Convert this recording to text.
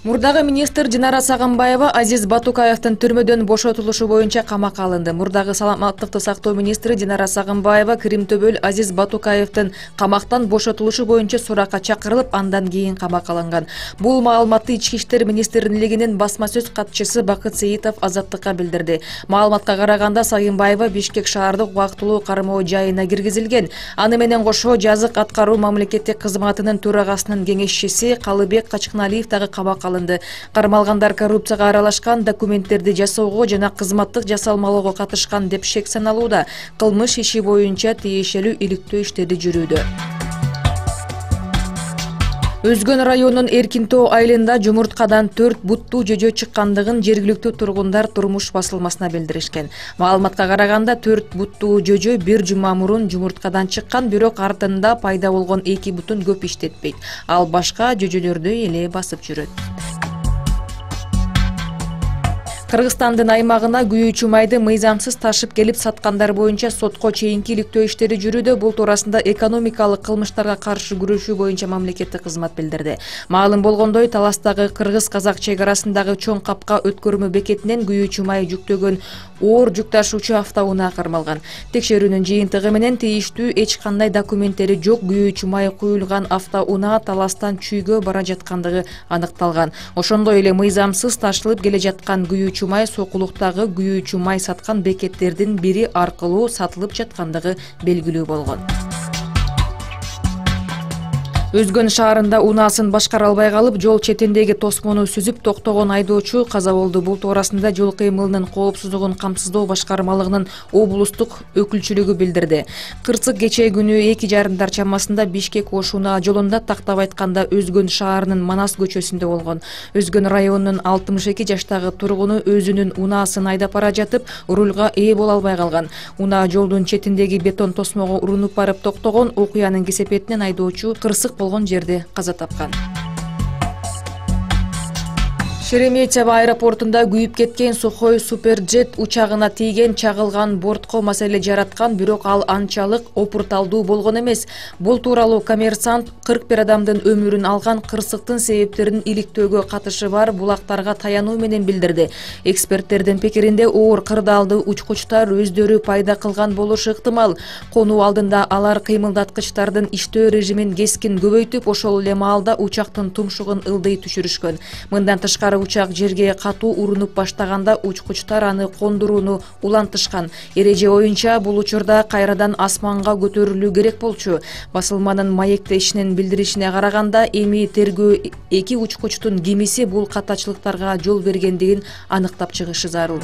Мурдагы министр Динара Сагынбаева Азиз Батукаевдин түрмөдөн бошотулушу боюнча камакка алынды. Мурдагы саламаттыкты сактоо министри Динара Сагынбаева Кримтөбөл Азиз Батукаевдин камактан бошотулушу боюнча суракка чакырылып, андан кийин камакка алынган. Бул маалыматты Ички иштер министрлигинин басма сөз катчысы Бакыт Сейитов Азаттыкка билдирди. Маалыматка караганда Сагынбаева Бишкек шаардык убактылуу кармоо жайына киргизилген. Аны менен кошо жазык аткаруу мамлекеттик кызматынын төрагасынын кеңешчиси Калыбек Качкыналиев дагы камакка алынды. Кармалгандар коррупцияга аралашкан, документтерди жасоого жана кызматтык жасалмалоого катышкан деп шек саналууда. Кылмыш иши боюнча тиешелүү иликтөө иштери жүрүүдө. Өзгөн районунун Эркинтоо айылында жумурткадан 4 буттуу жөжө чыккандыгын жергиликтүү тургундар турмуш басылмасына билдиришкен. Маалыматка караганда 4 буттуу жөжө бир жума мурун жумурткадан чыккан, бирок артында пайда болгон 2 бутун көп иштетпейт. Ал башка жөжөлөрдү эле басып жүрөт. Кыргызстандын аймагына күйүүчү майды мыйзамсыз ташып келип саткандар боюнча сотко чейинки иликтөө иштери жүрүүдө. Бул туурасында экономикалык кылмыштарга каршы күрөшүү боюнча мамлекеттик кызмат билдирди. Маалым болгондой, Таластагы кыргыз-казак чек арасындагы чоң капка өткөрмө бекетинен күйүүчү май жүктөгөн оор жүк ташуучу автоунаа кармалган. Текшерүүнүн жыйынтыгы менен тийиштүү эч кандай документтери жок күйүүчү май куюлган автоунаа Таластан Чүйгө бара жаткандыгы аныкталган. Ошондой эле мыйзамсыз ташылып келе жаткан күйүүчү май Сокулуктагы күйүүчү май саткан бекеттердин бири аркылуу сатылып жаткандыгы белгилүү болгон. Өзгөн шаарында унаасын башкара албай калып, жол четиндеги тосмону сүзүп токтогон айдоочу каза болду. Бул туурасында жол кыймылынын коопсуздугун камсыздоо башкармалыгынын облустук өкүлчүлүгү билдирди. Кырсык кечээ күнү 2:30 чамасында Бишкек-Ош унаа жолунда, тактап айтканда, Өзгөн шаарынын Манас көчөсүндө болгон. Өзгөн районунун 62 жаштагы тургуну өзүнүн унаасын айдап бара жатып, рулга ээ боло албай калган. Унаа жолдун четиндеги бетон тосмого урунуп барып токтогон. Окуянын кесепетинен айдоочу кырсык болгон жерде каза тапкан. Шереметьево аэропортунда күйүп кеткен Сухой суперджет учагына тийген чагылган бортко маселе жараткан, бирок ал анчалык опурталдуу болгон эмес. Бул тууралуу Коммерсант 41 адамдын өмүрүн алган кырсыктын себептерин иликтөөгө катышы бар булактарга таянуу менен билдирди. Эксперттердин пикиринде, оор кырдаалды учкучтар өздөрү пайда кылган болушу ыктымал. Конуу алдында алар кыймылдаткычтардын иштөө режимин кескин көбөйтүп, ошол эле маалда учактын тумшугун ылдый түшүрүшкөн. Мындан тышкары учак жерге катуу урунуп баштаганда учкучтар аны кондурууну улантышкан. Эреже боюнча бул учурда кайрадан асманга көтөрүлүү керек болчу. Басылманын маектешинин билдиришине караганда, эми тергөө 2 учкучтун кимиси бул катачылыктарга жол бергендигин аныктап чыгышы зарыл.